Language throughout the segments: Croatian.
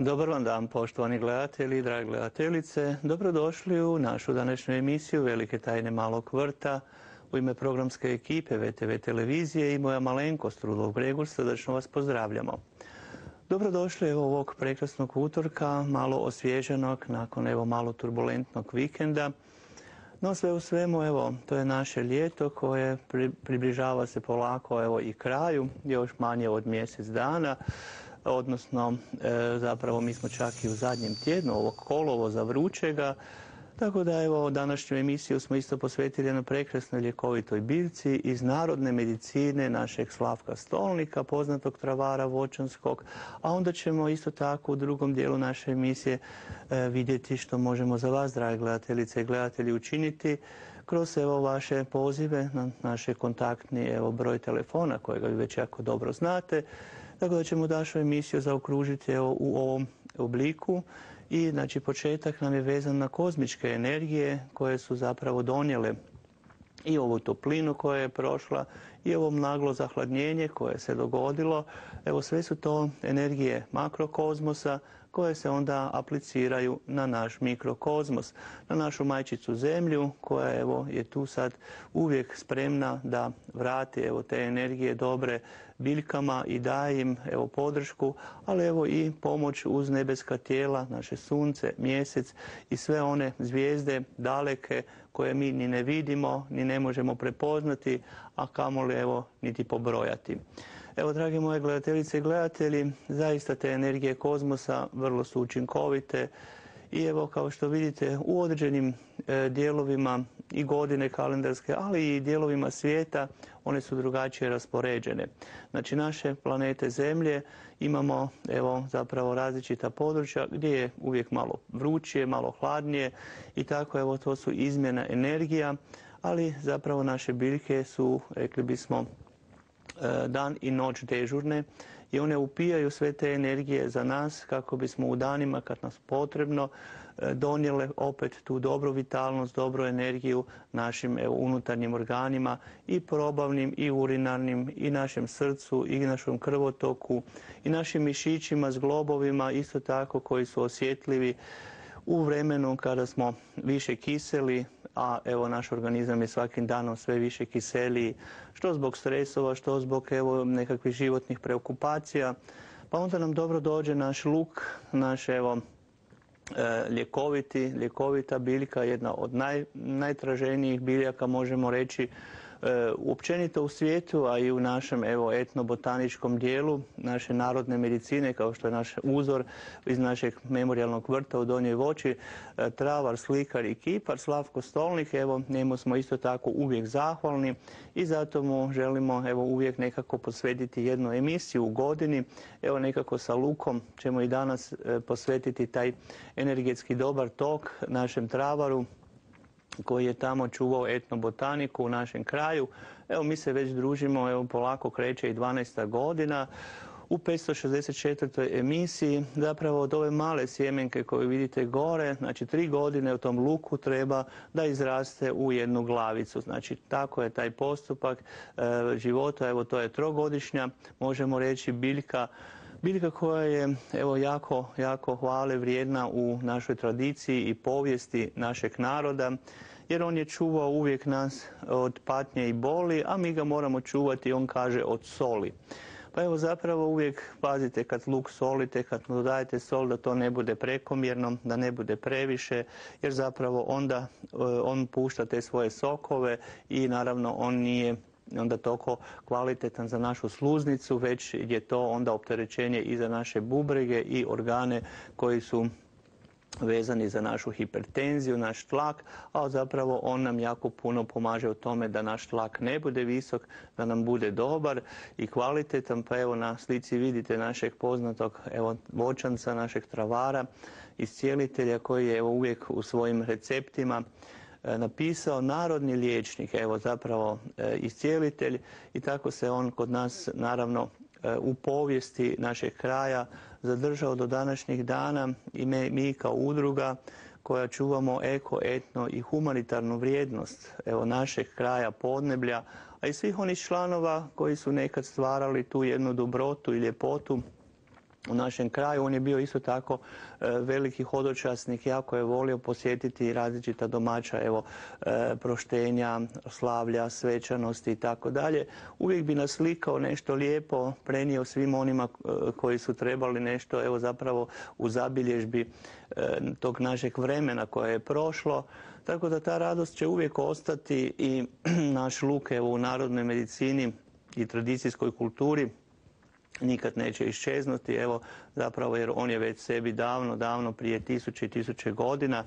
Dobar vam dan, poštovani gledatelji i drage gledateljice. Dobrodošli u našu današnju emisiju Velike tajne malog vrta. U ime programske ekipe VTV televizije i moja malenkost Rudolf Gregor srdačno vas pozdravljamo. Dobrodošli ovog prekrasnog utorka, malo osvježenog nakon malo turbulentnog vikenda. No sve u svemu, to je naše ljeto koje približava se polako i kraju, još manje od mjesec dana. Odnosno, zapravo mi smo čak i u zadnjem tjednu ovog kolovoza vrućega, tako da današnju emisiju smo isto posvetili jednoj prekrasnoj ljekovitoj biljci iz narodne medicine našeg Slavka Stolnika, poznatog travara voćanskog, a onda ćemo isto tako u drugom dijelu naše emisije vidjeti što možemo za vas, drage gledateljice i gledatelji, učiniti kroz vaše pozive na naše kontaktni broj telefona kojega vi već jako dobro znate. Tako da ćemo našu emisiju zaokružiti u ovom obliku i znači početak nam je vezan na kozmičke energije koje su zapravo donijele i ovu toplinu koja je prošla i ovo naglo zahladnjenje koje se dogodilo. Sve su to energije makrokozmosa koje se onda apliciraju na naš mikrokozmos, na našu majčicu Zemlju koja je tu sad uvijek spremna da vrati te energije dobre biljkama i daje im podršku, ali i pomoć uz nebeska tijela, naše sunce, mjesec i sve one zvijezde daleke koje mi ni ne vidimo, ni ne možemo prepoznati, a kamoli niti pobrojati. Drage moje gledateljice i gledatelji, zaista te energije kozmosa vrlo su učinkovite i kao što vidite u određenim dijelovima i godine kalendarske, ali i dijelovima svijeta one su drugačije raspoređene. Znači naše planete Zemlje imamo zapravo različita područja gdje je uvijek malo vrućije, malo hladnije i tako to su izmjena energija, ali zapravo naše biljke su, rekli bismo, dan i noć dežurne i one upijaju sve te energije za nas kako bismo u danima kad nas potrebno donijele opet tu dobru vitalnost, dobru energiju našim unutarnjim organima i probavnim i urinarnim i našem srcu i našem krvotoku i našim mišićima, zglobovima isto tako koji su osjetljivi u vremenu kada smo više kiseli, a naš organizam je svakim danom sve više kiseliji, što zbog stresova, što zbog nekakvih životnih preokupacija, pa onda nam dobro dođe naš luk, naš ljekovita biljka, jedna od najtraženijih biljaka možemo reći općenito u svijetu, a i u našem etnobotaničkom dijelu naše narodne medicine, kao što je naš uzor iz našeg memorijalnog vrta u Donjoj Voći, travar, slikar i kipar Slavko Stolnik. Njemu smo isto tako uvijek zahvalni i zato mu želimo uvijek nekako posvetiti jednu emisiju u godini. Nekako sa lukom ćemo i danas posvetiti taj energetski dobar tok našem travaru koji je tamo čuvao etnobotaniku u našem kraju. Mi se već družimo, polako kreće i 12. godina. U 564. emisiji zapravo od ove male sjemenke koju vidite gore, znači 3 godine u tom luku treba da izraste u jednu glavicu. Znači tako je taj postupak života, to je 3-godišnja, možemo reći biljka koja je jako hvale vrijedna u našoj tradiciji i povijesti našeg naroda, jer on je čuvao uvijek nas od patnje i boli, a mi ga moramo čuvati, on kaže, od soli. Pa zapravo uvijek pazite kad luk solite, kad dodajete sol, da to ne bude prekomjerno, da ne bude previše, jer zapravo onda on pušta te svoje sokove i naravno on nije onda toliko kvalitetan za našu sluznicu, već je to onda opterećenje i za naše bubrege i organe koji su vezani za našu hipertenziju, naš tlak, a zapravo on nam jako puno pomaže u tome da naš tlak ne bude visok, da nam bude dobar i kvalitetan. Pa evo na slici vidite našeg poznatog voćanca, našeg travara, iscijelitelja koji je uvijek u svojim receptima napisao narodni liječnik, zapravo iscijelitelj, i tako se on kod nas naravno u povijesti našeg kraja zadržao do današnjih dana i mi kao udruga koja čuvamo eko, etno i humanitarnu vrijednost našeg kraja Podneblja, a i svih onih članova koji su nekad stvarali tu jednu dobrotu i ljepotu u našem kraju. On je bio isto tako veliki hodočasnik, jako je volio posjetiti različita domaća proštenja, slavlja, svečanosti i tako dalje. Uvijek bi naslikao nešto lijepo, prenio svim onima koji su trebali nešto zapravo u zabilježbi tog našeg vremena koje je prošlo. Tako da ta radost će uvijek ostati i naš luk u narodnoj medicini i tradicijskoj kulturi nikad neće iščeznuti, zapravo jer on je već sebi davno prije tisuće i tisuće godina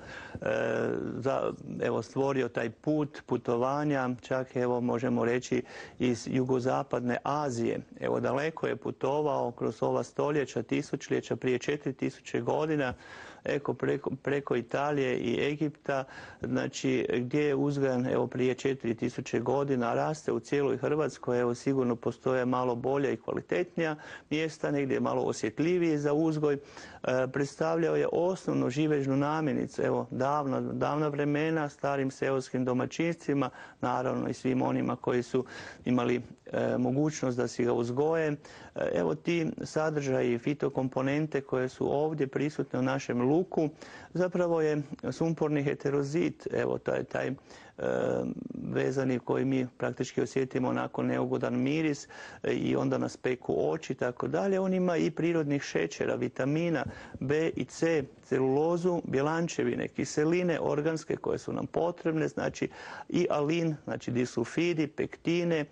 stvorio taj put putovanja, čak možemo reći iz jugozapadne Azije. Daleko je putovao kroz ova stoljeća, tisućljeća, prije 4000 godina, preko Italije i Egipta, znači gdje je uzgajan prije 4000 godina, raste u cijeloj Hrvatskoj, sigurno postoje malo bolja i kvalitetnija mjesta, negdje je malo osjetljiviji za uzgoj. Predstavljao je osnovnu živežnu namirnicu, davna vremena, starim seoskim domaćinstvima, naravno i svim onima koji su imali mogućnost da si ga uzgoje. Ti sadržaji, fitokomponente koje su ovdje prisutne u našem luku, zapravo je sumporni heterozit, taj vezani koji mi praktički osjetimo onako neugodan miris i onda nas peku oči i tako dalje. On ima i prirodnih šećera, vitamina B i C, celulozu, bjelančevine, kiseline organske koje su nam potrebne, znači i alin, znači disulfidi, pektine,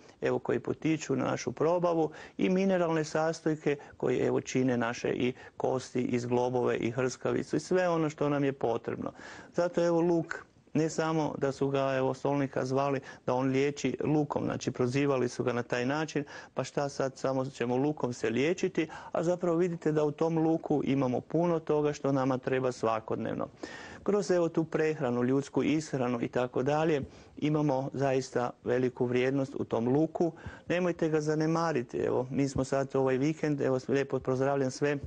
koji potiču na našu probavu, i mineralne sastojke koji čine naše i kosti, i zglobove, i hrskavicu i sve ono što nam je potrebno. Zato luk, ne samo da su ga stolnika zvali da on liječi lukom, znači prozivali su ga na taj način, pa šta sad samo ćemo lukom se liječiti, a zapravo vidite da u tom luku imamo puno toga što nama treba svakodnevno. Kroz tu prehranu, ljudsku ishranu i tako dalje, imamo zaista veliku vrijednost u tom luku. Nemojte ga zanemariti. Mi smo sad ovaj vikend, lijepo pozdravljam sve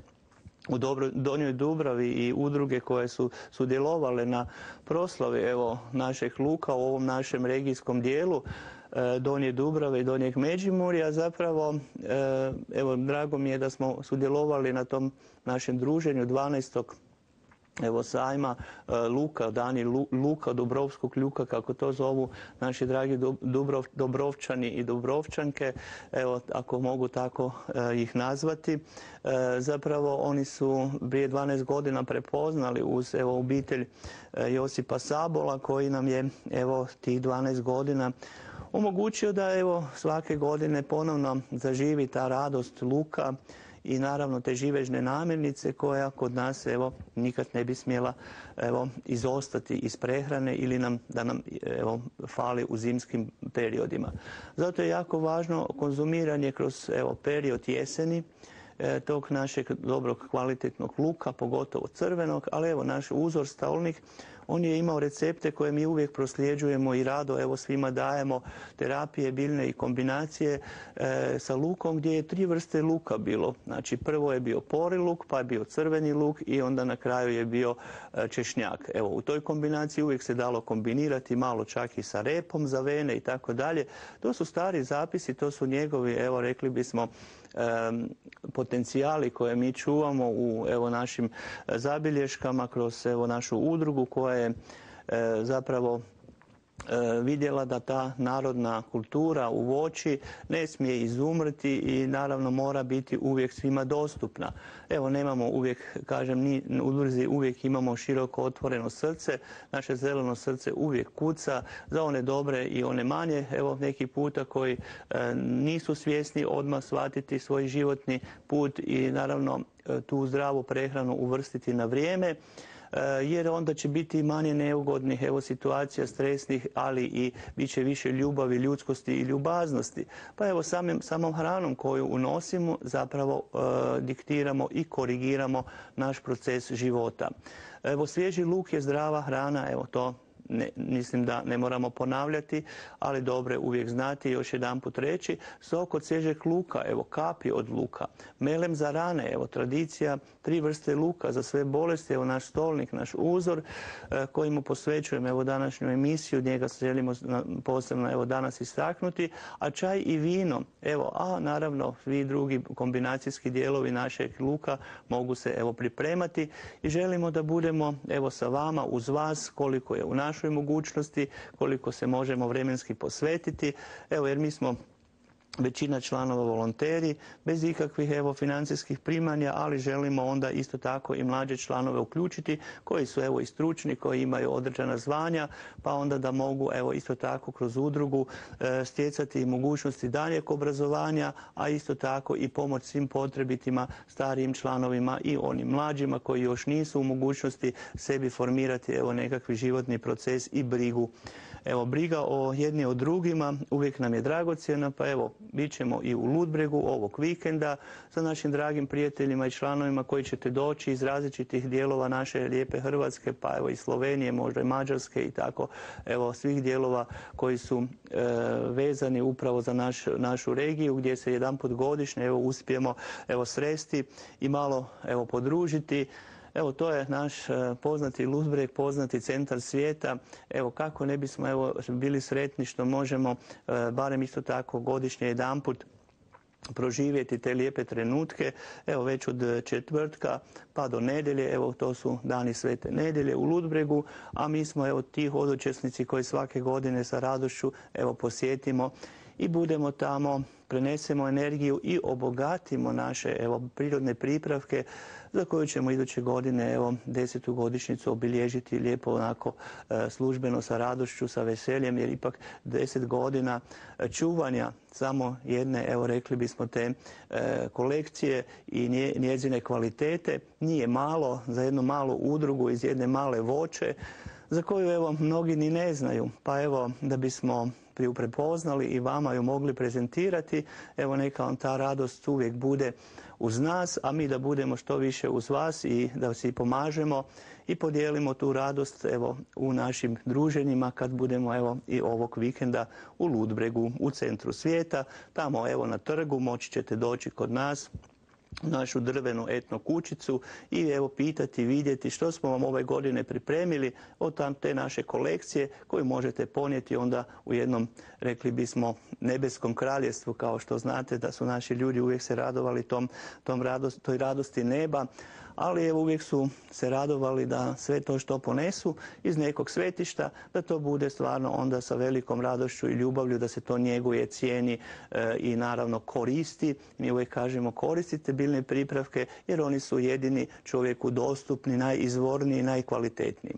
u Donjoj Dubravi i udruge koje su sudjelovale na proslavi našeg luka u ovom našem regijskom dijelu Donje Dubrave i Donjeg Međimurja. Zapravo, drago mi je da smo sudjelovali na tom našem druženju 12. sajma luka, dani luka, Dubrovskog luka, kako to zovu naši dragi Dobrovčani i Dubrovčanke, ako mogu tako ih nazvati. Zapravo oni su prije 12 godina prepoznali uz obitelj Josipa Sabola, koji nam je tih 12 godina omogućio da svake godine ponovno zaživi ta radost luka i naravno te živežne namirnice koja kod nas nikad ne bi smjela izostati iz prehrane ili da nam fali u zimskim periodima. Zato je jako važno konzumiranje kroz period jeseni tog našeg dobrog kvalitetnog luka, pogotovo crvenog, ali naš uzor stolnik, on je imao recepte koje mi uvijek prosljeđujemo i rado svima dajemo, terapije biljne i kombinacije sa lukom, gdje je 3 vrste luka bilo. Znači prvo je bio pori luk, pa je bio crveni luk i onda na kraju je bio češnjak. U toj kombinaciji uvijek se dalo kombinirati malo čak i sa repom za vene i tako dalje. To su stari zapisi, to su njegovi, rekli bismo, potencijali koje mi čuvamo u našim zabilješkama kroz našu udrugu koja je zapravo vidjela da ta narodna kultura u voći ne smije izumrti i naravno mora biti uvijek svima dostupna. Nemamo uvijek, kažem, ni u udruzi uvijek imamo široko otvoreno srce, naše zeleno srce uvijek kuca za one dobre i one manje, neki puta koji nisu svjesni odmah shvatiti svoj životni put i naravno tu zdravu prehranu uvrstiti na vrijeme. jer onda će biti manje neugodnih situacija, stresnih, ali i bit će više ljubavi, ljudskosti i ljubaznosti. Pa evo samom hranom koju unosimo zapravo diktiramo i korigiramo naš proces života. Evo, svježi luk je zdrava hrana, evo to mislim da ne moramo ponavljati, ali dobro je uvijek znati i još jedanput reći. Sok od svježeg luka, evo kapi od luka. Melem za rane, evo tradicija 3 vrste luka za sve bolesti, evo naš stolnik, naš uzor koji mu posvećujemo evo današnju emisiju, njega želimo posebno evo danas istaknuti, a čaj i vino, evo, a naravno svi drugi kombinacijski dijelovi našeg luka mogu se evo pripremati i želimo da budemo evo sa vama, uz vas, koliko je u našoj mogućnosti, koliko se možemo vremenski posvetiti, evo jer mi smo većina članova volonteri, bez ikakvih evo financijskih primanja, ali želimo onda isto tako i mlađe članove uključiti koji su evo i stručni, koji imaju određena zvanja, pa onda da mogu evo isto tako kroz udrugu stjecati mogućnosti daljeg obrazovanja, a isto tako i pomoć svim potrebitima starijim članovima i onim mlađima koji još nisu u mogućnosti sebi formirati evo nekakvi životni proces i brigu. Evo, briga o jedni o drugima uvijek nam je dragocjena, pa evo, bit ćemo i u Ludbregu ovog vikenda sa našim dragim prijateljima i članovima koji ćete doći iz različitih dijelova naše lijepe Hrvatske, pa evo i Slovenije, možda i Mađarske i tako, evo svih dijelova koji su vezani upravo za našu regiju gdje se jedanput godišnje evo uspijemo evo sresti i malo evo podružiti. Evo, to je naš poznati Ludbreg, poznati centar svijeta. Evo, kako ne bismo evo bili sretni što možemo barem isto tako godišnje jedanput proživjeti te lijepe trenutke, evo već od četvrtka pa do nedjelje, evo to su dani Svete nedjelje u Ludbregu, a mi smo evo ti hodočasnici koji svake godine sa radošću evo posjetimo i budemo tamo, prenesemo energiju i obogatimo naše evo prirodne pripravke za koju ćemo iduće godine evo 10. godišnjicu obilježiti lijepo onako službeno sa radošću, sa veseljem, jer ipak 10 godina čuvanja samo jedne, evo rekli bismo te kolekcije i njezine kvalitete nije malo za jednu malu udrugu iz jedne male voće za koju evo mnogi ni ne znaju. Pa evo da bismo ju prepoznali i vama ju mogli prezentirati, evo neka vam ta radost uvijek bude uz nas, a mi da budemo što više uz vas i da si pomažemo i podijelimo tu radost evo u našim druženjima kad budemo evo i ovog vikenda u Ludbregu, u centru svijeta. Tamo evo na trgu moći ćete doći kod nas, našu drvenu etno kućicu i evo pitati, vidjeti što smo vam ove godine pripremili od te naše kolekcije koju možete ponijeti onda u jednom, rekli bismo, nebeskom kraljevstvu, kao što znate da su naši ljudi uvijek se radovali toj radosti neba, ali evo uvijek su se radovali da sve to što ponesu iz nekog svetišta, da to bude stvarno onda sa velikom radošću i ljubavlju, da se to njeguje, cijeni i naravno koristi. Mi uvijek kažemo koristite biljne pripravke jer oni su jedini čovjeku dostupni, najizvorniji, najkvalitetniji.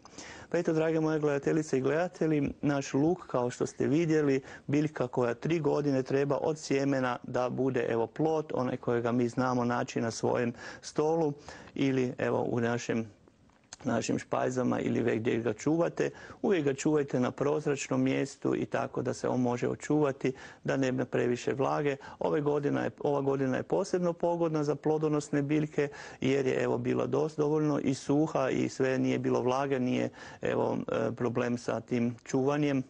Pa eto, drage moje gledateljice i gledatelji, naš luk, kao što ste vidjeli, biljka koja 3 godine treba od sjemena da bude evo plod, onaj kojega mi znamo naći na svojem stolu ili evo u našim špajzama ili gdje ga čuvate. Uvijek ga čuvajte na prozračnom mjestu i tako da se on može očuvati, da nema previše vlage. Ova godina je posebno pogodna za plodonosne biljke jer je evo bila dovoljno i suha i sve nije bilo vlage, nije evo problem sa tim čuvanjem.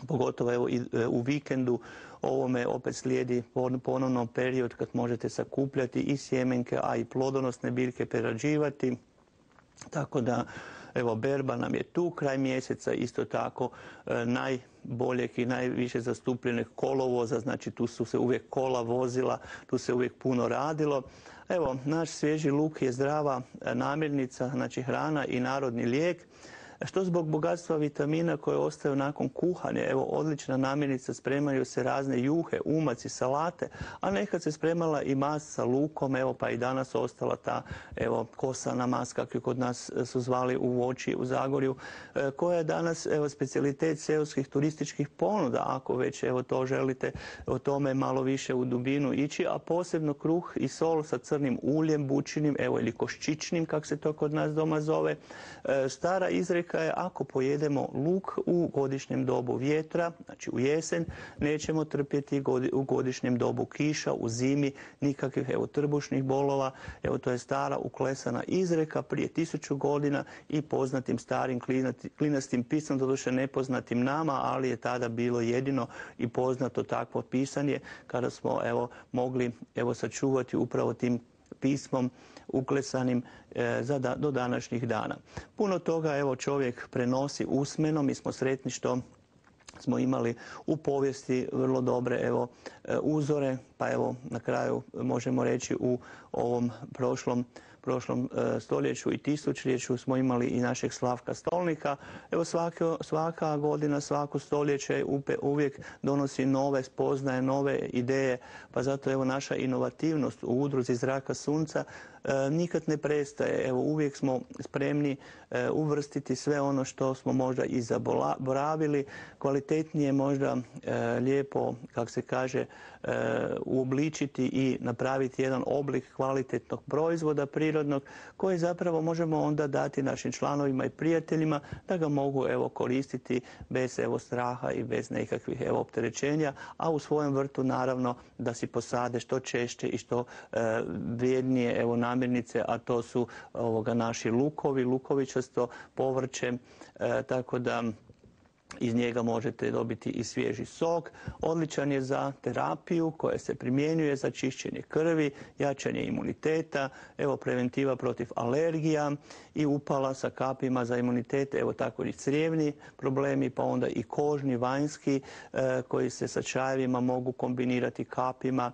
Pogotovo evo i u vikendu ovome opet slijedi ponovno period kad možete sakupljati i sjemenke, a i plodonosne biljke prerađivati. Tako da, evo, berba nam je tu kraj mjeseca, isto tako najboljeg i najviše zastupljenih kolovoza, znači tu su se uvijek kola vozila, tu se uvijek puno radilo. Evo, naš svježi luk je zdrava namirnica, znači hrana i narodni lijek. što zbog bogatstva vitamina koje ostaju nakon kuhanja. Evo, odlična namirnica, spremaju se razne juhe, umaci, salate, a nekad se spremala i mast sa lukom, evo pa i danas ostala ta evo kosana mast, kako kod nas su zvali u Voći u Zagorju, koja je danas evo specijalitet seoskih turističkih ponuda, ako već evo to želite o tome malo više u dubinu ići, a posebno kruh i sol sa crnim uljem, bućinim, evo ili koščičnim, kako se to kod nas doma zove. Stara izreka je, ako pojedemo luk u godišnjem dobu vjetra, znači u jesen, nećemo trpjeti u godišnjem dobu kiša, u zimi nikakvih evo trbušnih bolova. Evo, to je stara uklesana izreka prije 1000 godina i poznatim starim klinastim pisom, doduše nepoznatim nama, ali je tada bilo jedino i poznato takvo pisanje kada smo evo mogli evo sačuvati upravo tim pismom uklesanim do današnjih dana. Puno toga evo čovjek prenosi usmeno. Mi smo sretni što smo imali u povijesti vrlo dobre evo uzore, pa evo na kraju možemo reći u ovom prošlom stoljeću i tisućljeću smo imali i našeg Slavka Stolnika. Evo svaka godina, svako stoljeće uvijek donosi nove spoznaje, nove ideje, pa zato evo naša inovativnost u udruzi Zraka sunca nikad ne prestaje. Evo uvijek smo spremni uvrstiti sve ono što smo možda i zaboravili, kvalitetnije možda lijepo, kako se kaže, uobličiti i napraviti jedan oblik kvalitetnog proizvoda prirodnog koji zapravo možemo onda dati našim članovima i prijateljima da ga mogu evo koristiti bez evo straha i bez nekakvih evo opterećenja, a u svojem vrtu naravno da si posade što češće i što vrijednije evo namirnice, a to su naši lukovi, lukovičasto povrće, tako da iz njega možete dobiti i svježi sok. Odličan je za terapiju koja se primjenjuje za čišćenje krvi, jačanje imuniteta, evo preventiva protiv alergija i upala sa kapima za imunitet, evo tako i crijevni problemi, pa onda i kožni, vanjski, koji se sa čajevima mogu kombinirati kapima,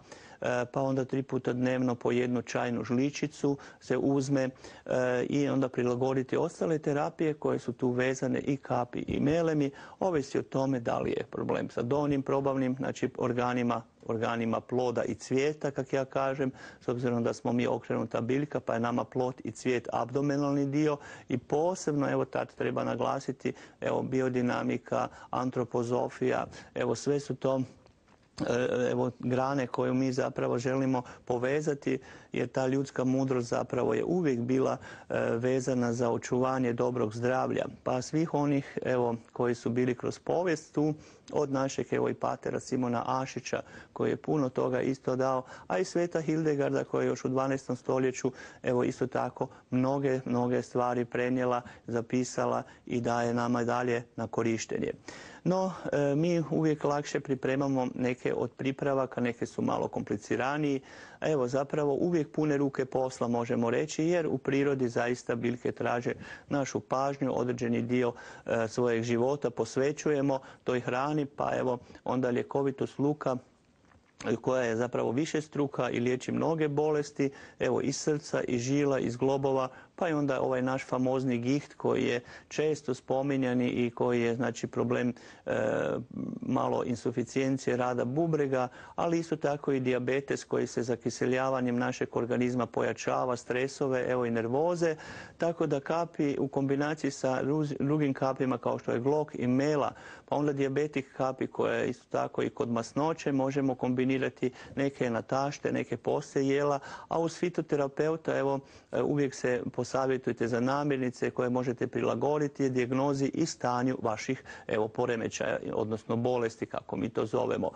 pa onda 3 puta dnevno po 1 čajnu žličicu se uzme i onda prilagoditi ostale terapije koje su tu vezane i kapi i melemi, ovisi o tome da li je problem sa donjim probavnim, znači organima ploda i cvijeta, kako ja kažem, s obzirom da smo mi okrenuta biljka, pa je nama plod i cvijet abdomenalni dio i posebno, evo tad treba naglasiti, evo biodinamika, antropozofija, evo sve su to evo grane koju mi zapravo želimo povezati, jer ta ljudska mudrost zapravo je uvijek bila vezana za očuvanje dobrog zdravlja. Pa svih onih evo koji su bili kroz povijest tu, od našeg evo i patera Simona Ašića koji je puno toga isto dao, a i sveta Hildegarda koja je još u 12. stoljeću evo isto tako mnoge stvari prenijela, zapisala i daje nama dalje na korištenje. No, mi uvijek lakše pripremamo neke od pripravaka, neke su malo kompliciraniji, a evo zapravo uvijek pune ruke posla možemo reći, jer u prirodi zaista biljke traže našu pažnju, određeni dio svojeg života posvećujemo toj hrani, pa evo onda ljekovitost luka koja je zapravo višestruka i liječi mnoge bolesti, evo iz srca, iz žila, iz globova, pa i onda ovaj naš famozni giht koji je često spominjani i koji je znači problem malo insuficijencije rada bubrega, ali isto tako i dijabetes koji se zakiseljavanjem našeg organizma pojačava, stresove, evo i nervoze, tako da kapi u kombinaciji sa drugim kapima kao što je glok i mela, pa onda dijabetik kapi koja je isto tako i kod masnoće, možemo kombinirati neke natašte, neke poslije jela, a uz fitoterapeuta evo uvijek se posavjetujte za namirnice koje možete prilagoditi dijagnozi i stanju vaših evo poremećaja, odnosno bolesti kako mi to zovemo.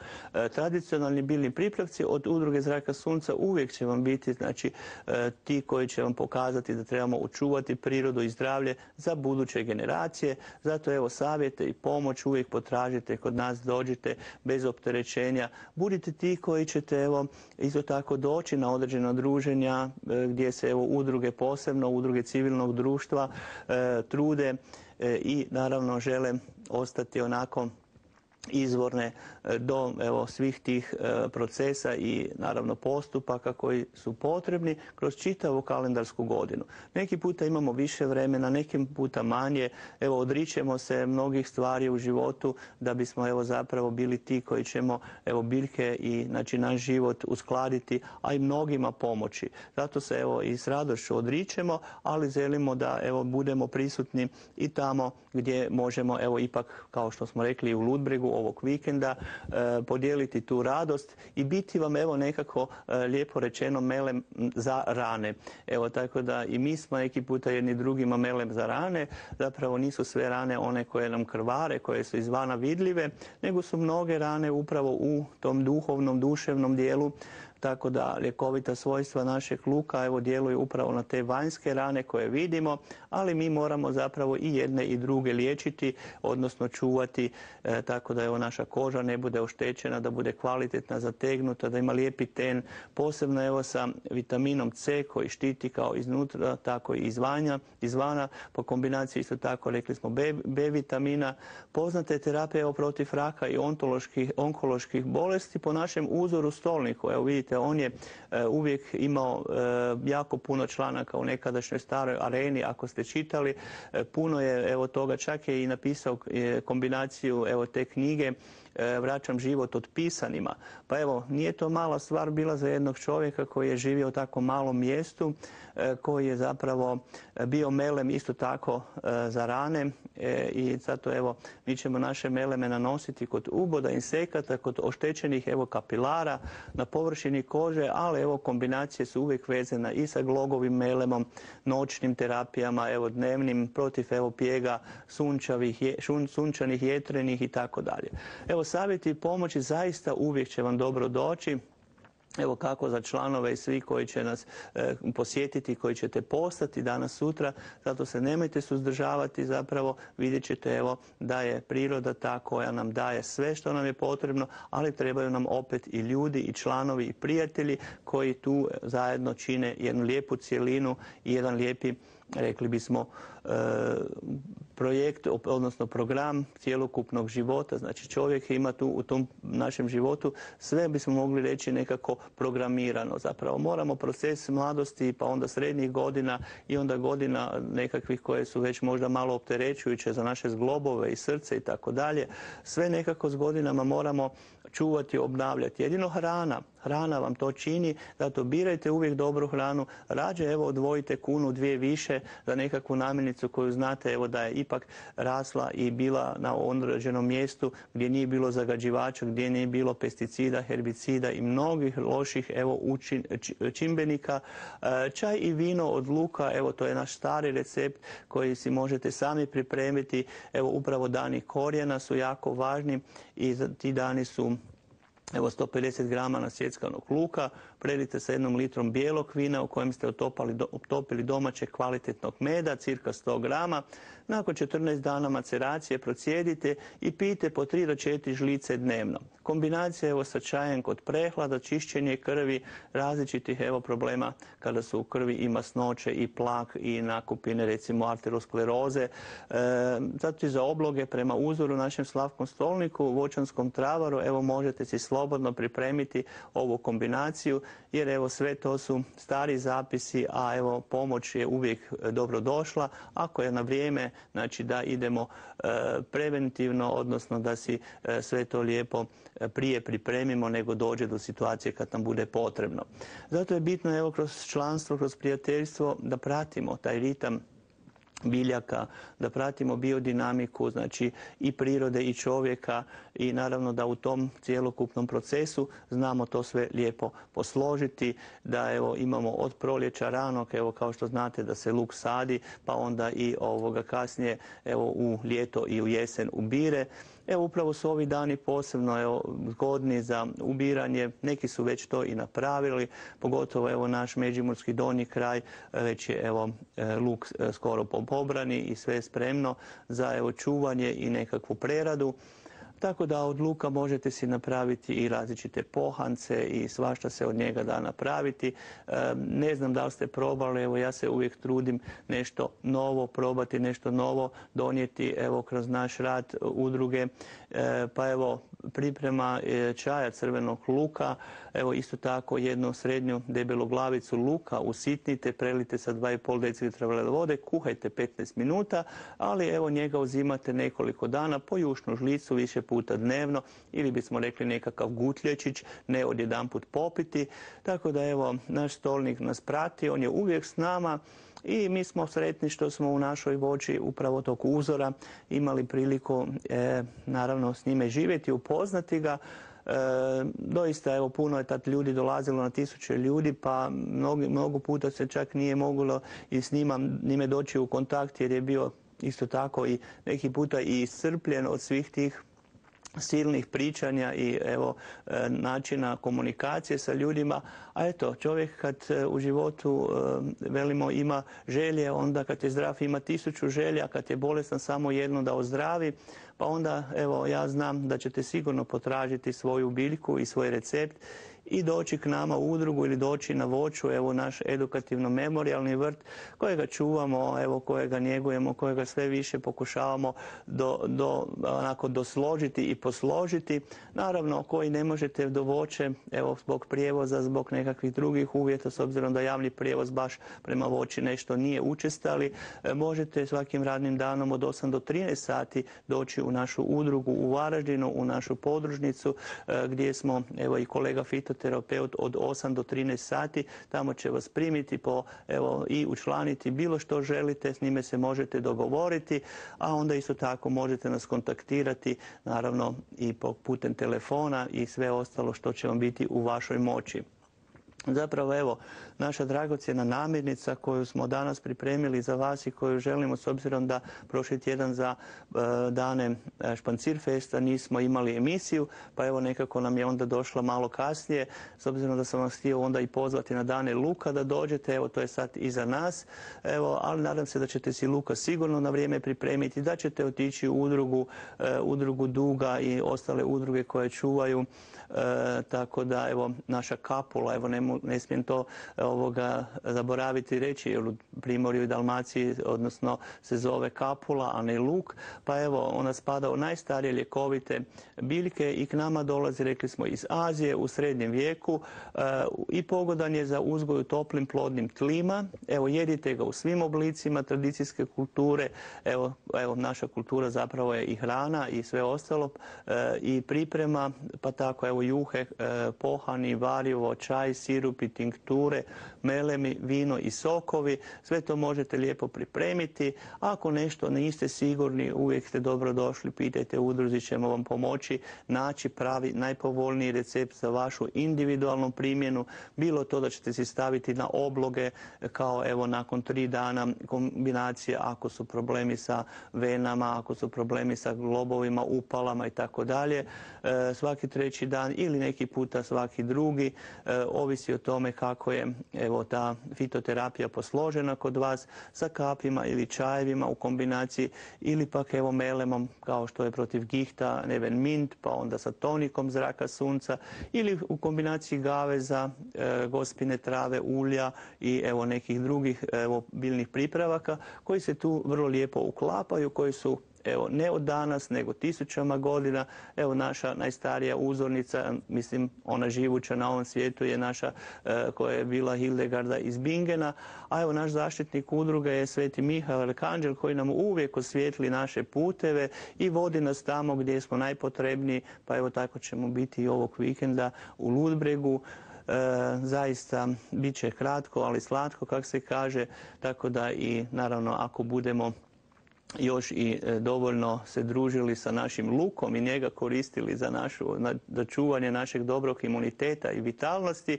Tradicionalni biljni pripravci od udruge Zraka sunca uvijek će vam biti znači ti koji će vam pokazati da trebamo očuvati prirodu i zdravlje za buduće generacije. Zato evo savjete i pomoć uvijek potražite kod nas, dođite bez opterećenja. Budite ti koji ćete evo isto tako doći na određena druženja gdje se evo udruge, posebno udruge civilnog društva trude i naravno žele ostati onako izvorne do svih tih procesa i naravno postupaka koji su potrebni kroz čitavu kalendarsku godinu. Neki puta imamo više vremena, neki puta manje. Odričemo se mnogih stvari u životu da bismo zapravo bili ti koji ćemo biljke i znači naš život uskladiti, a i mnogima pomoći. Zato se i s radošću odričemo, ali želimo da budemo prisutni i tamo gdje možemo ipak, kao što smo rekli, u Ludbregu ovog vikenda podijeliti tu radost i biti vam nekako lijepo rečeno melem za rane. Tako da i mi smo neki puta jedni drugima melem za rane. Zapravo nisu sve rane one koje nam krvare, koje su izvana vidljive, nego su mnoge rane upravo u tom duhovnom, duševnom dijelu. Tako da ljekovita svojstva našeg luka djeluju upravo na te vanjske rane koje vidimo, ali mi moramo zapravo i jedne i druge liječiti, odnosno čuvati, tako da naša koža ne bude oštećena, da bude kvalitetna, zategnuta, da ima lijepi ten, posebno sa vitaminom C koji štiti kao iznutra, tako i izvana, po kombinaciji isto tako rekli smo B vitamina. Poznata je terapija protiv raka i onkoloških bolesti po našem uzoru stolniku. Vidite, on je uvijek imao jako puno članaka u nekadašnjoj staroj areni, ako ste čitali. Puno je toga, čak je i napisao kombinaciju te knjige Vraćam život otpisanima. Pa nije to mala stvar bila za jednog čovjeka koji je živio u tako malom mjestu, koji je zapravo bio melem isto tako za rane i zato mi ćemo naše meleme nanositi kod uboda, insekata, kod oštećenih kapilara na površini kože, ali kombinacije su uvijek vezane i sa glogovim melemom, noćnim terapijama, dnevnim protiv pjega, sunčanih, jetrenih i tako dalje. Savjeti i pomoći zaista uvijek će vam dobro doći. Kako za članove i svi koji će nas posjetiti, koji ćete postati danas, sutra. Zato se nemojte suzdržavati, zapravo vidjet ćete da je priroda ta koja nam daje sve što nam je potrebno, ali trebaju nam opet i ljudi i članovi i prijatelji koji tu zajedno čine jednu lijepu cjelinu i jedan lijepi, rekli bismo, projekt, odnosno program cjelokupnog života. Znači čovjek ima tu u tom našem životu sve bismo mogli reći nekako programirano. Zapravo moramo proces mladosti, pa onda srednjih godina i onda godina nekakvih koje su već možda malo opterećujuće za naše zglobove i srce i tako dalje. Sve nekako s godinama moramo čuvati, obnavljati. Jedino hrana vam to čini, zato birajte uvijek dobru hranu. Rađe odvojite kunu, dvije više za nekakvu namirnicu koju znate da je ipak rasla i bila na određenom mjestu gdje nije bilo zagađivača, gdje nije bilo pesticida, herbicida i mnogih loših čimbenika. Čaj i vino od luka, to je naš stari recept koji si možete sami pripremiti. Upravo dani korijena su jako važni i ti dani su 150 grama nasjeckanog luka, predite sa 1 litrom bijelog vina u kojem ste otopili domaće kvalitetnog meda, cirka 100 grama. Nakon 14 dana maceracije procijedite i pijte po 3 do 4 žlice dnevno. Kombinacija sa čajem kod prehlada, čišćenje krvi, različitih problema kada su u krvi i masnoće i plak i nakupine, recimo arteroskleroze. Zato i za obloge prema uzoru našem slavkom stolniku, voćanskom travaru, možete si slobodno pripremiti ovu kombinaciju, jer sve to su stari zapisi, a pomoć je uvijek dobro došla ako je na vrijeme, znači da idemo preventivno, odnosno da si sve to lijepo prije pripremimo nego dođe do situacije kad nam bude potrebno. Zato je bitno kroz članstvo, kroz prijateljstvo da pratimo taj ritam biljaka, da pratimo biodinamiku, znači i prirode i čovjeka i naravno da u tom cjelokupnom procesu znamo to sve lijepo posložiti, da imamo od proljeća ranog, kao što znate da se luk sadi, pa onda i kasnije u ljeto i u jesen ubire. Upravo su ovi dani posebno zgodni za ubiranje, neki su već to i napravili, pogotovo naš međimurski donji kraj, već je luk skoro pobrani i sve je spremno za čuvanje i nekakvu preradu. tako da od luka možete si napraviti i različite pohance i svašta se od njega da napraviti. Ne znam da li ste probali, evo ja se uvijek trudim nešto novo probati, nešto novo donijeti evo kroz naš rad udruge. Pa evo priprema čaja crvenog luka, evo isto tako jednu srednju debelu glavicu luka usitnite, prelite sa 2,5 decilitra vode, kuhajte 15 minuta, ali evo njega uzimate nekoliko dana po jušnu žlicu više puta dnevno ili bismo rekli nekakav gutlječić, ne odjedanput popiti. Tako da evo naš stolnik nas prati, on je uvijek s nama. I mi smo sretni što smo u našoj voći upravo tog uzora imali priliku naravno s njime živjeti, upoznati ga. Doista evo puno je tad ljudi dolazilo, na tisuće ljudi, pa mnogo puta se čak nije moglo i s njime doći u kontakt jer je bio isto tako i neki puta i iscrpljen od svih tih silnih pričanja i evo načina komunikacije sa ljudima. A eto, čovjek kad u životu velimo ima želje, onda kad je zdrav ima 1000 želja, kad je bolestan samo jednu da ozdravi. Pa onda evo ja znam da ćete sigurno potražiti svoju biljku i svoj recept i doći k nama u udrugu ili doći na voću, evo naš edukativno-memorijalni vrt kojega čuvamo, evo kojega njegujemo, kojega sve više pokušavamo onako dosložiti i posložiti. Naravno, koji ne možete do voće, evo zbog prijevoza, zbog nekakvih drugih uvjeta, s obzirom da javni prijevoz baš prema voći nešto nije učestali, možete svakim radnim danom od 8 do 13 sati doći u našu udrugu u Varaždinu, u našu podružnicu gdje smo, evo i kolega fitoterapeut od 8 do 13 sati, tamo će vas primiti i učlaniti bilo što želite, s njime se možete dogovoriti, a onda isto tako možete nas kontaktirati, naravno i putem telefona i sve ostalo što će vam biti u vašoj moći. Zapravo evo, naša dragocjena namirnica koju smo danas pripremili za vas i koju želimo, s obzirom da prošli tjedan za dane Špancirfesta nismo imali emisiju, pa evo nekako nam je onda došla malo kasnije, s obzirom da sam vas htio onda i pozvati na dane luka da dođete, evo to je sad iza nas, evo, ali nadam se da ćete si luka sigurno na vrijeme pripremiti, da ćete otići u udrugu Duga i ostale udruge koje čuvaju, tako da evo naša kapula, evo ne smijem to zaboraviti reći, jer u Primorju i Dalmaciji odnosno se zove kapula, a ne luk, pa evo ona spada u najstarije ljekovite biljke i k nama dolazi, rekli smo, iz Azije u srednjem vijeku i pogodan je za uzgoj u toplim plodnim tlima. Evo jedite ga u svim oblicima tradicijske kulture, evo naša kultura zapravo je i hrana i sve ostalo i priprema, pa tako evo juhe, pohani, varivo, čaj, sirupi, tinkture, melemi, vino i sokovi, sve to možete lijepo pripremiti. Ako nešto niste sigurni, uvijek ste dobro došli, pitajte, u udruzi ćemo vam pomoći naći pravi, najpovoljniji recept za vašu individualnu primjenu, bilo to da ćete si staviti na obloge kao evo nakon 3 dana kombinacije ako su problemi sa venama, ako su problemi sa globovima, upalama i tako dalje, svaki 3. dan ili neki puta svaki drugi, ovisi o tome kako je evo ta fitoterapija posložena kod vas, sa kapima ili čajevima u kombinaciji ili pak evo melemom kao što je protiv gihta neven mint, pa onda sa tonikom zraka sunca ili u kombinaciji gaveza, gospine trave, ulja i evo nekih drugih biljnih pripravaka koji se tu vrlo lijepo uklapaju, koji su evo ne od danas nego 1000 godina. Evo naša najstarija uzornica, mislim ona živuća na ovom svijetu je naša koja je bila Hildegarda iz Bingena, a evo naš zaštitnik udruge je Sveti Mihael Arkanđel koji nam uvijek osvijetli naše puteve i vodi nas tamo gdje smo najpotrebniji, pa evo tako ćemo biti i ovog vikenda u Ludbregu. Zaista bit će kratko, ali slatko, kako se kaže, tako da i naravno ako budemo još i dovoljno se družili sa našim lukom i njega koristili za čuvanje našeg dobrog imuniteta i vitalnosti,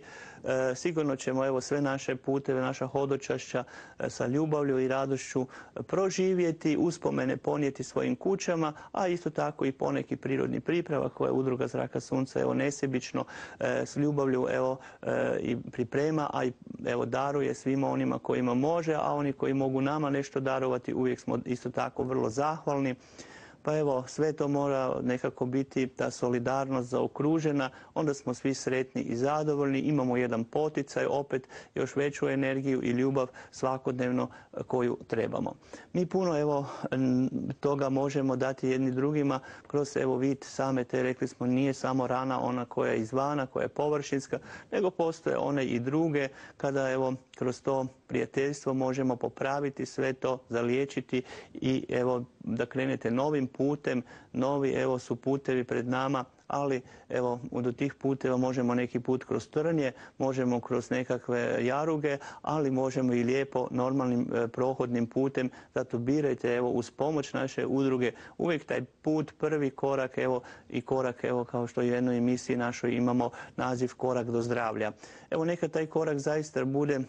sigurno ćemo evo sve naše puteve, naša hodočašća sa ljubavlju i radošću proživjeti, uspomene ponijeti svojim kućama, a isto tako i poneki prirodni pripravak koje Udruga Zraka sunca evo nesebično s ljubavlju evo i priprema, a i evo daruje svima onima kojima može, a oni koji mogu nama nešto darovati uvijek smo isto tako vrlo zahvalni. Pa evo, sve to mora nekako biti ta solidarnost zaokružena, onda smo svi sretni i zadovoljni, imamo jedan poticaj, opet još veću energiju i ljubav svakodnevno koju trebamo. Mi puno evo toga možemo dati jedni drugima kroz evo vid same te, rekli smo, nije samo rana ona koja je izvana, koja je površinska, nego postoje one i druge kada evo kroz to prijateljstvo možemo popraviti sve to, zaliječiti i evo da krenete novim putem, novi evo su putevi pred nama, ali evo do tih puteva možemo neki put kroz trnje, možemo kroz nekakve jaruge, ali možemo i lijepo normalnim prohodnim putem, zato birajte evo uz pomoć naše udruge uvijek taj put, prvi korak evo i korak evo kao što u jednoj emisiji našoj imamo naziv Korak do zdravlja. Evo neka taj korak zaista bude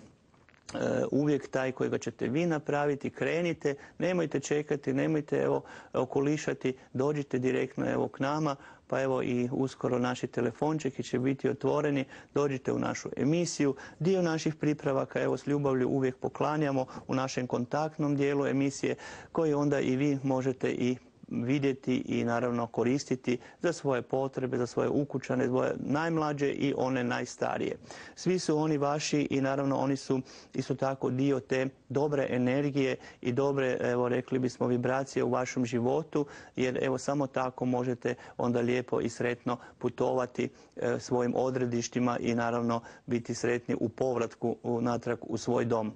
uvijek taj kojega ćete vi napraviti, krenite, nemojte čekati, nemojte evo okolišati, dođite direktno evo k nama, pa evo i uskoro naši telefončeki će biti otvoreni, dođite u našu emisiju, dio naših pripravaka evo s ljubavlju uvijek poklanjamo u našem kontaktnom dijelu emisije koji onda i vi možete i vidjeti i naravno koristiti za svoje potrebe, za svoje ukućane, svoje najmlađe i one najstarije. Svi su oni vaši i naravno oni su isto tako dio te dobre energije i dobre, evo rekli bismo, vibracije u vašem životu, jer evo samo tako možete onda lijepo i sretno putovati svojim odredištima i naravno biti sretni u povratku natrag u svoj dom.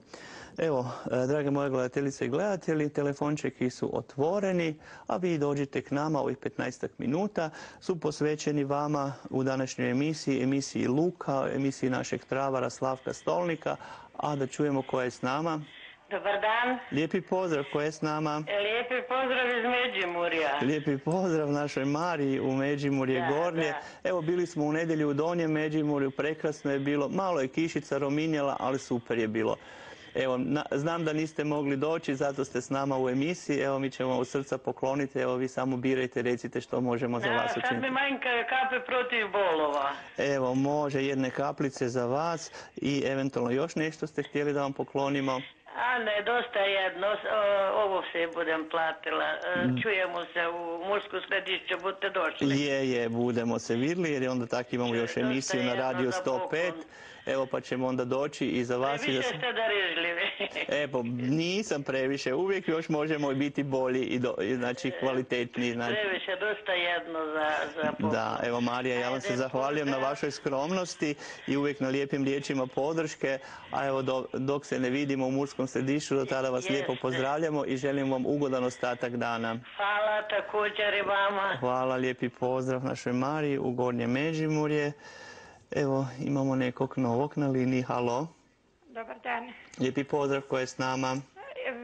Evo, drage moje gledateljice i gledatelji, telefončeki su otvoreni, a vi dođite k nama, ovih 15 minuta su posvećeni vama u današnjoj emisiji Luka, emisiji našeg travara Slavka Stolnika, a da čujemo ko je s nama. Dobar dan. Lijepi pozdrav, ko je s nama? Lijepi pozdrav iz Međimurja. Lijepi pozdrav našoj Mariji u Međimurje Gornje. Da. Evo, bili smo u nedjelju u Donjem Međimurju, prekrasno je bilo, malo je kišica rominjala, ali super je bilo. Evo, znam da niste mogli doći, zato ste s nama u emisiji. Evo, mi ćemo od srca pokloniti. Evo, vi samo birajte, recite što možemo za vas učiniti. Sad mi manjkaju kape protiv bolova. Evo, može jedne kaplice za vas i eventualno još nešto ste htjeli da vam poklonimo. A ne, dosta jedno, ovo se budem platila. Čujemo se u Mursku središće, budete došli. Je, budemo se vidjeli jer onda tako imamo još emisiju na Radio 105. Evo pa ćemo onda doći i za vas. Previše ste darežljivi. Evo, nisam previše, uvijek još možemo biti bolji i znači kvalitetniji. Previše, dosta jedno za poklon. Da, evo Marija, ja vam se zahvaljujem na vašoj skromnosti i uvijek na lijepim riječima podrške, a evo dok se ne vidimo u Murskom središću, do tada vas lijepo pozdravljamo i želim vam ugodan ostatak dana. Hvala također i vama. Hvala, lijepi pozdrav našoj Mariji u Gornje Međimurje. Evo, imamo nekog novog na liniji. Halo. Dobar dan. Lijepi pozdrav, ko je s nama?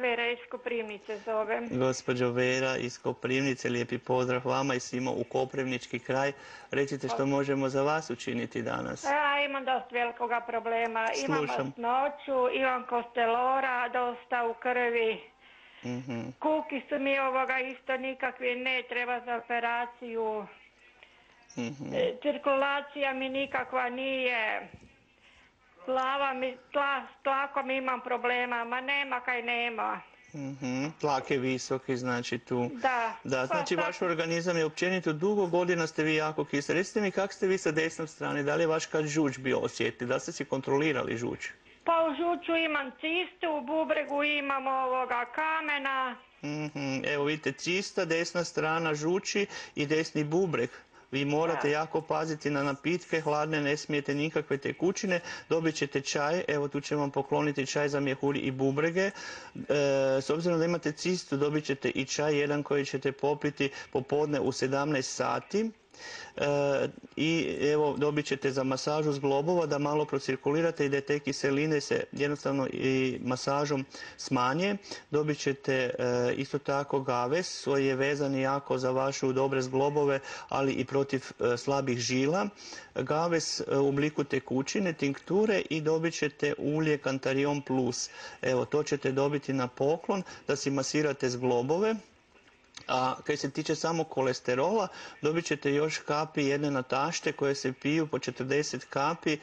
Vera iz Koprivnice zovem. Gospođo Vera iz Koprivnice, lijepi pozdrav vama i svima u Koprivnički kraj. Recite što možemo za vas učiniti danas. Ja imam dosta velikoga problema. Imam masnoću, imam kostelora, dosta u krvi. Kuki su mi isto nikakvi, ne treba za operaciju. Cirkulacija mi nikakva nije, tlakom imam problema, ma nema kaj nema. Tlak je visoki, znači tu. Da. Znači vaš organizam je općenito, dugo godina ste vi jako kiseli. Recite mi kako ste vi sa desnom strane, da li je vaš kad žuč bio osjetli, da ste si kontrolirali žuč? Pa u žuču imam cistu, u bubregu imam kamena. Evo vidite, cista, desna strana žuči i desni bubreg. Vi morate jako paziti na napitke, hladne, ne smijete nikakve tekućine, dobit ćete čaj, evo tu ćemo vam pokloniti čaj za mjehuri i bubrege. S obzirom da imate cistu, dobit ćete i čaj jedan koji ćete popiti popodne u 17 sati. I evo dobit ćete za masažu zglobova da malo procirkulirate i da te kiseline se jednostavno i masažom smanje. Dobit ćete isto tako gaves koji je vezan jako za vašu dobre zglobove, ali i protiv slabih žila. Gaves u obliku tekućine, tinkture i dobit ćete ulje Cantarion Plus. Evo to ćete dobiti na poklon da si masirate zglobove. A kad se tiče samo kolesterola, dobit ćete još kapi jedne natašte koje se piju po 40 kapi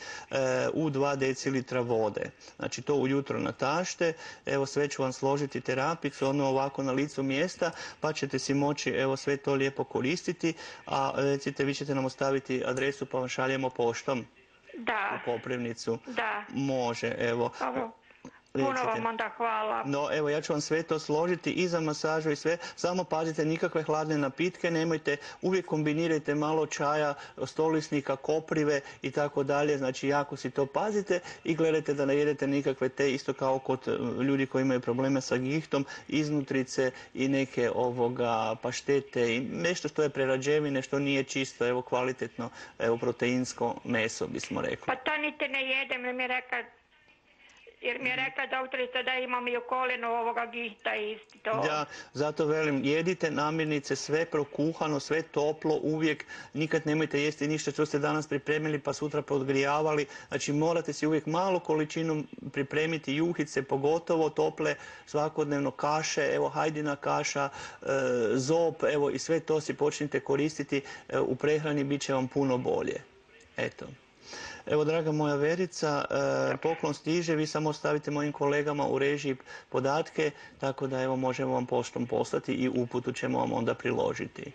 u 2 decilitra vode. Znači to ujutro natašte, evo sve ću vam složiti terapicu, ono ovako na licu mjesta, pa ćete si moći evo sve to lijepo koristiti, a recite vi ćete nam ostaviti adresu pa vam šaljemo poštom. Da. U Koprivnicu. Da. Može, evo. Puno vam onda hvala. No, evo, ja ću vam sve to složiti i za masažu i sve. Samo pazite, nikakve hladne napitke nemojte. Uvijek kombinirajte malo čaja, stolisnika, koprive i tako dalje. Znači, jako si to pazite i gledajte da ne jedete nikakve te, isto kao kod ljudi koji imaju probleme sa gihtom, iznutrice i neke paštete i nešto što je prerađevine, što nije čisto, evo, kvalitetno, evo, proteinsko meso, bismo rekli. Pa to niti ne jedem, jer mi je rekla doktorica da imam i u kolenu ovoga gihta isti to. Ja, zato velim, jedite namirnice, sve prokuhano, sve toplo, uvijek, nikad nemojte jesti ništa što ste danas pripremili pa sutra podgrijavali. Znači morate si uvijek malu količinu pripremiti, juhice, pogotovo tople, svakodnevno kaše, evo hajdina kaša, zob, evo i sve to si počnite koristiti u prehrani, bit će vam puno bolje. Eto. Evo, draga moja Verica, poklon stiže, vi samo ostavite mojim kolegama u režiji podatke, tako da evo možemo vam poštom poslati i uputu ćemo vam onda priložiti.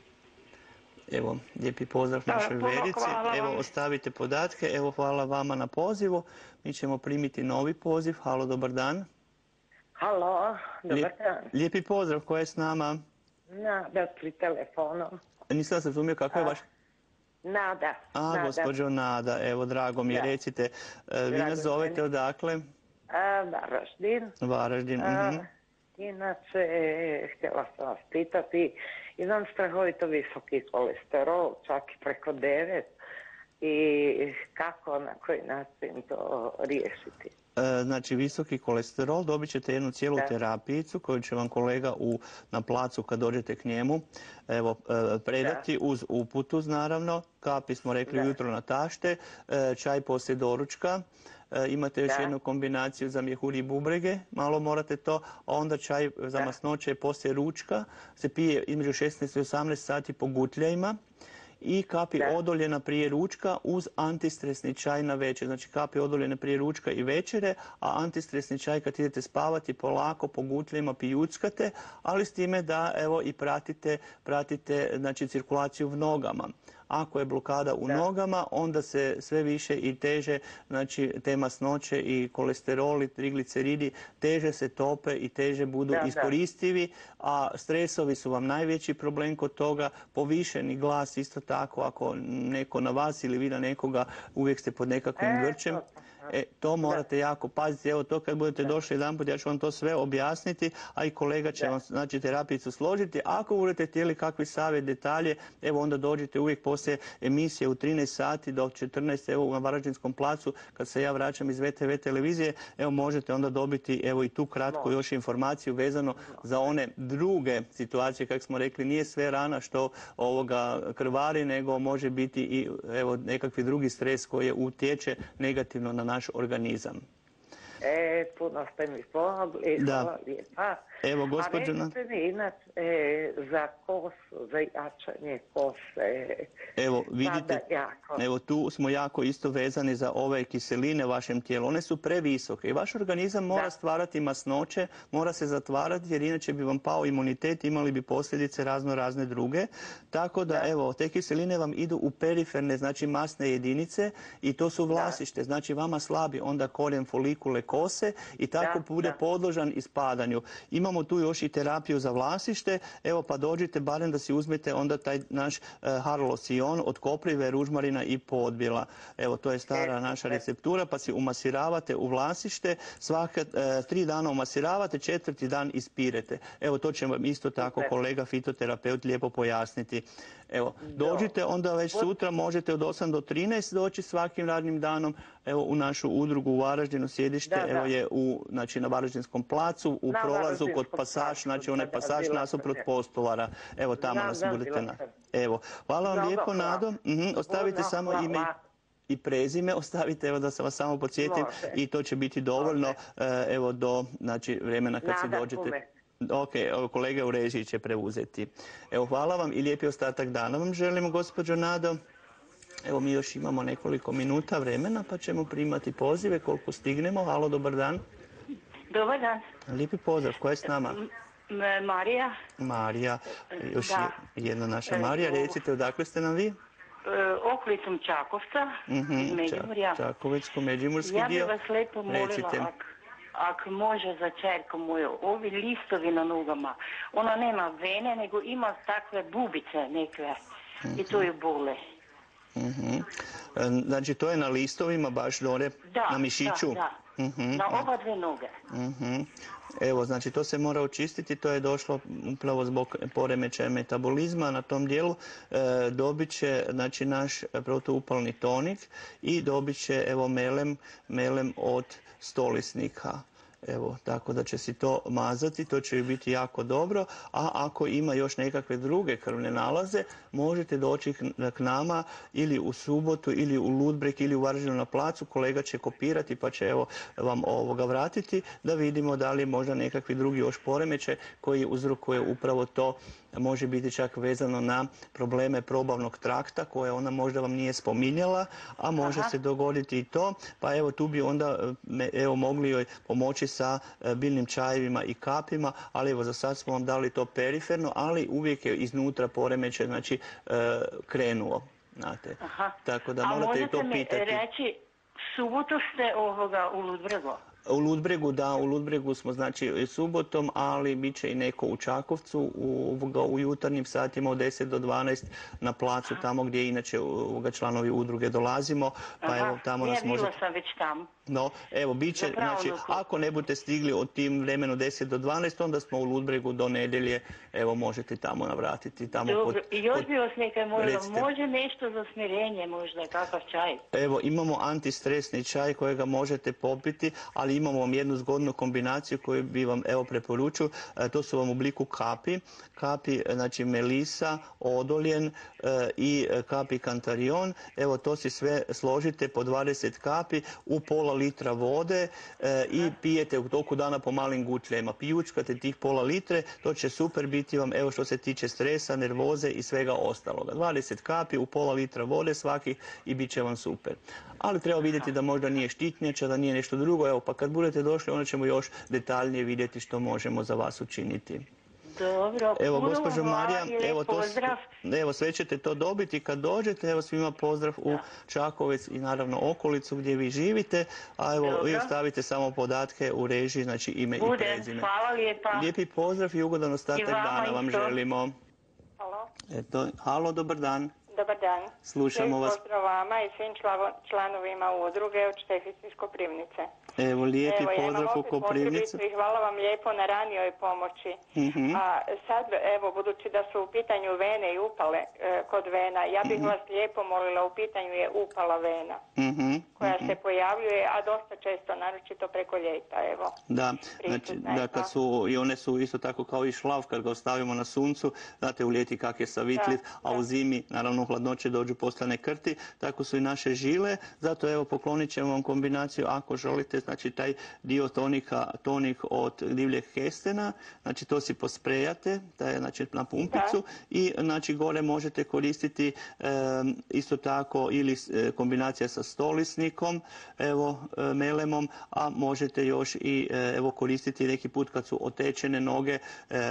Evo, lijepi pozdrav našoj Verici. Evo, ostavite podatke. Evo, hvala vama na pozivu. Mi ćemo primiti novi poziv. Halo, dobar dan. Halo, dobar dan. Lijepi pozdrav, ko je s nama? Nada, pri telefonu. Nisam se razumio kako je vaš... Nada. Gospođo Nada, evo, drago mi je, recite, vi nas zovete odakle? Varaždin. Varaždin, Inače, htjela sam vas pitati, imam strahovito visoki kolesterol, čak i preko 9, i kako, na koji način to riješiti? Znači, visoki kolesterol, dobit ćete jednu cijelu terapijicu koju će vam kolega na placu kad dođete k njemu predati uz uputu, naravno. Kapi smo rekli ujutro natašte, čaj poslije doručka. Imate još jednu kombinaciju za mjehur i bubrege, malo morate to, a onda čaj za masnoće poslije ručka se pije između 16 i 18 sati po gutljajima. I kapi odoljena prije ručka uz antistresni čaj na večer. Znači kapi odoljene prije ručka i večere, a antistresni čaj kad idete spavati polako po gutljajima pijuckate, ali s time da evo i pratite znači cirkulaciju v nogama. Ako je blokada u nogama, onda se sve više i teže, znači te masnoće i kolesteroli, trigliceridi, teže se tope i teže budu iskoristivi, a stresovi su vam najveći problem kod toga, povišeni glas isto tako, ako neko na vas ili vi na nekoga, uvijek ste pod nekakvim grčem. To morate jako paziti. Evo to kad budete došli jedanput, ja ću vam to sve objasniti, a i kolega će vam znači terapijicu složiti. Ako budete htjeli kakvi savjet, detalje, evo onda dođite uvijek poslije emisije u 13 sati do 14, evo na Varaždinskom placu, kad se ja vraćam iz VTV televizije, evo možete onda dobiti evo i tu kratku još informaciju vezano za one druge situacije, kako smo rekli, nije sve rana što krvari, nego može biti i evo nekakvi drugi stres koji utječe negativno na naš organizam. Puno ste mi pomogli, hvala lijepa. Evo, gospođo... A recite mi inače za kosu, za jačanje kose. Evo, vidite, evo tu smo jako isto vezani za ove kiseline u vašem tijelu. One su previsoke i vaš organizam mora stvarati masnoće, mora se zatvarati jer inače bi vam pao imunitet, imali bi posljedice razne druge. Tako da, evo, te kiseline vam idu u periferne, znači masne jedinice i to su vlasište. Znači, vama slabi onda korijen folikule kose i tako bude podložan ispadanju. Imamo tu još i terapiju za vlasište, evo pa dođite barem da si uzmete onda taj naš Harlosion od koprive, ružmarina i podbila. Evo to je stara naša receptura, pa si umasiravate u vlasište, svaka 3 dana umasiravate, 4. dan ispirete. Evo to će vam isto tako kolega fitoterapeut lijepo pojasniti. Evo, dođite onda već sutra, možete od 8 do 13 doći svakim radnim danom, evo u našu udrugu u Varaždinu, sjedište, evo je znači na Varaždinskom placu, u prolazu kod pasaž, znači onaj pasaž nasuprot postolara. Evo tamo nas budete na... Evo, hvala vam lijepo, Nado. Ostavite samo ime i prezime, ostavite, evo da se vas samo podsjetim i to će biti dovoljno, evo do, znači, vremena kad se dođete. Ok, kolega u režiji će preuzeti. Evo, hvala vam i lijepi ostatak dana vam želimo, gospođo Nado. Evo, mi još imamo nekoliko minuta vremena, pa ćemo primati pozive koliko stignemo. Halo, dobar dan. Dobar dan. Lijepi pozdrav, koja je s nama? Marija. Marija, još jedna naša Marija. Recite, odakle ste nam vi? Okolicom Čakovca, iz Međimurja. Čakovecko-međimurski dio. Ja bih vas lijepo molila, ako može za čerku moju, ovi listovi na nogama, ona nema vene, nego ima takve bubice neke i to je bole. Znači, to je na listovima baš dole, na mišiću? Da. Na oba dve noge. Evo, znači to se mora očistiti, to je došlo upravo zbog poremećaja metabolizma na tom dijelu. Dobit će, znači, naš protuupalni tonik i dobit će, evo, melem od stolisnika. Evo, tako da će si to mazati, to će biti jako dobro, a ako ima još nekakve druge krvne nalaze, možete doći k nama ili u subotu, ili u Ludbreg, ili u Varaždinu na placu, kolega će kopirati pa će evo vam vratiti da vidimo da li je možda nekakvi drugi još poremećaj koji uzrokuje upravo to, može biti čak vezano na probleme probavnog trakta koje ona možda vam nije spominjala, a može se dogoditi i to, pa evo tu bi onda mogli joj pomoći sa biljnim čajevima i kapima, ali evo za sad smo vam dali to periferno, ali uvijek je iznutra poremećaj, znači krenuo, znate. Tako da morate i to pitati. A možete mi reći, subotu ste u Ludbregu? U Ludbregu, da, u Ludbregu smo znači subotom, ali bit će i neko u Čakovcu u jutarnjim satima od 10 do 12 na placu, tamo gdje inače članovi udruge dolazimo, pa evo tamo nas možete... Bila sam već tamo. No, evo, bit će, znači, ako ne budete stigli od tim vremenu 10 do 12, onda smo u Ludbregu do nedjelje, evo, možete tamo navratiti. Dobro, i još bi vas nekaj molila, može nešto za smirenje možda, kakav čaj? Evo, imamo antistresni čaj kojega možete popiti, ali imamo vam jednu zgodnu kombinaciju koju bi vam, evo, preporučio, to su vam u obliku kapi, znači melisa, odoljen i kapi kantarion, evo, to si sve složite po 20 kapi u pola litra vode i pijete u toku dana po malim gutljajima. Pijučkate tih pola litre, to će super biti vam, evo, što se tiče stresa, nervoze i svega ostaloga. 20 kapi u pola litra vode svaki i bit će vam super. Ali treba vidjeti da možda nije štitnjača, da nije nešto drugo, evo, pa kad budete došli, onda ćemo još detaljnije vidjeti što možemo za vas učiniti. Dobro, evo, gospođo Marija, evo, sve ćete to dobiti kad dođete, evo, svima pozdrav u Čakovec i naravno okolicu gdje vi živite, a evo, vi ostavite samo podatke u režiji, znači ime i prezime. Hvala lijepa. Lijepi pozdrav i ugodan ostatak dana vam želimo. Halo. Halo, dobar dan. Dobar dan. Slušamo vas. Pozdrav vama i svim članovima udruge od Štefice iz Koprivnice. Evo, lijepi pozdrav u Koprivnicu. I hvala vam lijepo na ranijoj pomoći. A sad, evo, budući da su u pitanju vene i upale kod vena, ja bih vas lijepo molila, u pitanju je upala vena koja se pojavljuje, a dosta često, naročito preko ljeta, evo. Da, znači, da kad su, i one su isto tako kao i šlav, kad ga ostavimo na suncu, znate u ljeti kak je savitljiv, a u zimi, naravno u hladnoće dođu postane krti, tako su i naše žile, zato evo poklonit ćemo vam kombinaciju ako želite, znači taj dio tonik od divljeg kestena, znači to si posprejate, taj, znači na pumpicu i znači gore možete koristiti isto tako ili kombinacija sa stolisnikom, evo melemom, a možete još i evo koristiti neki put kad su otečene noge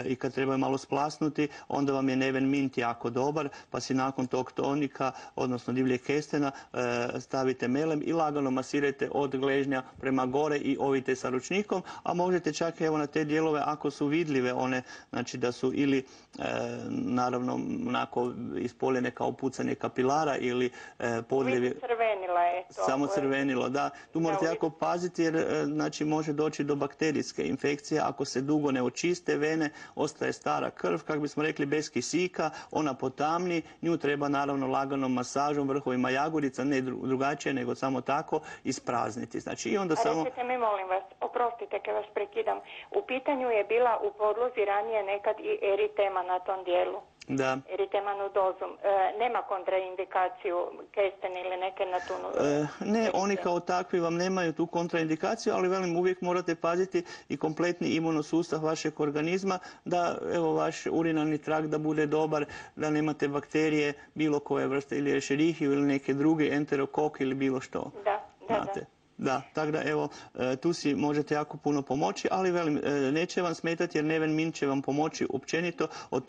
i kad trebaju malo splasnuti, onda vam je Neven Mint jako dobar, pa si nakon tog tonika, odnosno divljeg kestena, stavite melem i lagano masirajte od gležnja prema gore i ovite sa ručnikom, a možete čak evo na te dijelove ako su vidljive one, znači da su ili naravno onako ispoljene kao pucanje kapilara ili podljevi. Crvenila je to. Samo crvenilo, da. Tu morate jako paziti jer znači može doći do bakterijske infekcije. Ako se dugo ne očiste vene, ostaje stara krv, kako bismo rekli bez kisika, ona potamni, nju treba naravno laganom masažom, vrhovima jagodica, ne drugačije nego samo tako isprazniti. Znači i onda samo... Recite mi, molim vas, oprostite kad vas prekidam, u pitanju je bila u podlozi ranije nekad i eritema na tom dijelu. Da. Eritemanu-dozum. Nema kontraindikaciju kesten ili neke na tu... Ne, oni kao takvi vam nemaju tu kontraindikaciju, ali velim, uvijek morate paziti i kompletni imunosustav vašeg organizma, da evo vaš urinarni trakt da bude dobar, da nemate bakterije bilo koje vrste, ili Escherichia ili neke druge, enterokok ili bilo što. Da. Da, tako da evo, tu si možete jako puno pomoći, ali velim, neće vam smetati jer Neven Mint će vam pomoći općenito o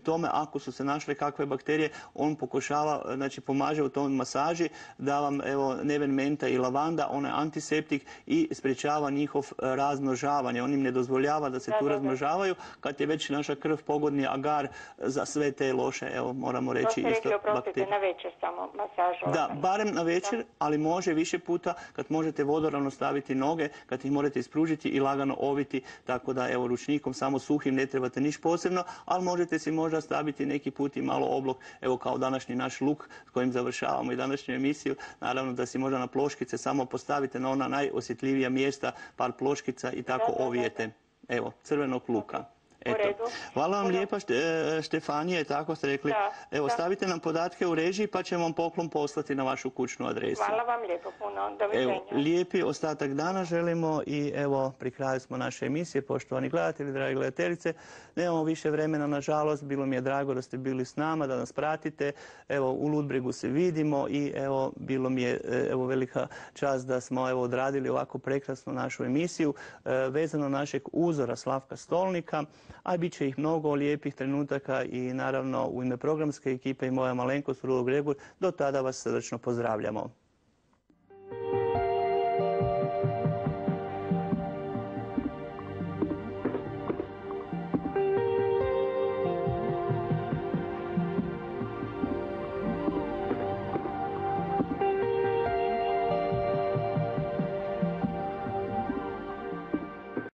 tome ako su se našle kakve bakterije, on pokušava, znači pomaže u tom masaži da vam evo Neven Menta i lavanda, on je antiseptik i sprječava njihov razmnožavanje. On im ne dozvoljava da se tu razmnožavaju kad je već naša krv pogodni agar za sve te loše, evo moramo reći isto bakterije. To ste rekli, oprostite, na večer samo masažu. Da, barem na večer, ali može više puta kad možete vodoravno staviti noge, kad ih morate ispružiti i lagano oviti, tako da evo ručnikom samo suhim ne trebate niš posebno, ali možete si možda staviti neki put i malo oblog, evo kao današnji naš luk s kojim završavamo i današnju emisiju, naravno da si možda na ploškice samo postavite na ona najosjetljivija mjesta, par ploškica i tako ovijete, evo, crvenog luka. Eto. Hvala vam lijepa Štefanija, tako ste rekli. Evo, stavite nam podatke u režiji pa ćemo vam poklon poslati na vašu kućnu adresu. Hvala vam lijepo puno. Doviđenja. Evo, lijepi ostatak dana želimo i evo, pri kraju smo naše emisije, poštovani gledatelji, dragi gledateljice. Nemamo više vremena, nažalost, bilo mi je drago da ste bili s nama, da nas pratite. Evo, u Ludbregu se vidimo i evo, bilo mi je velika čast da smo odradili ovako prekrasnu našu emisiju vezano našeg uzora Slavka Stolnika, a bit će ih mnogo lijepih trenutaka i naravno u ime programske ekipe i moja malenkost Rulo Gregor, do tada vas srdačno pozdravljamo.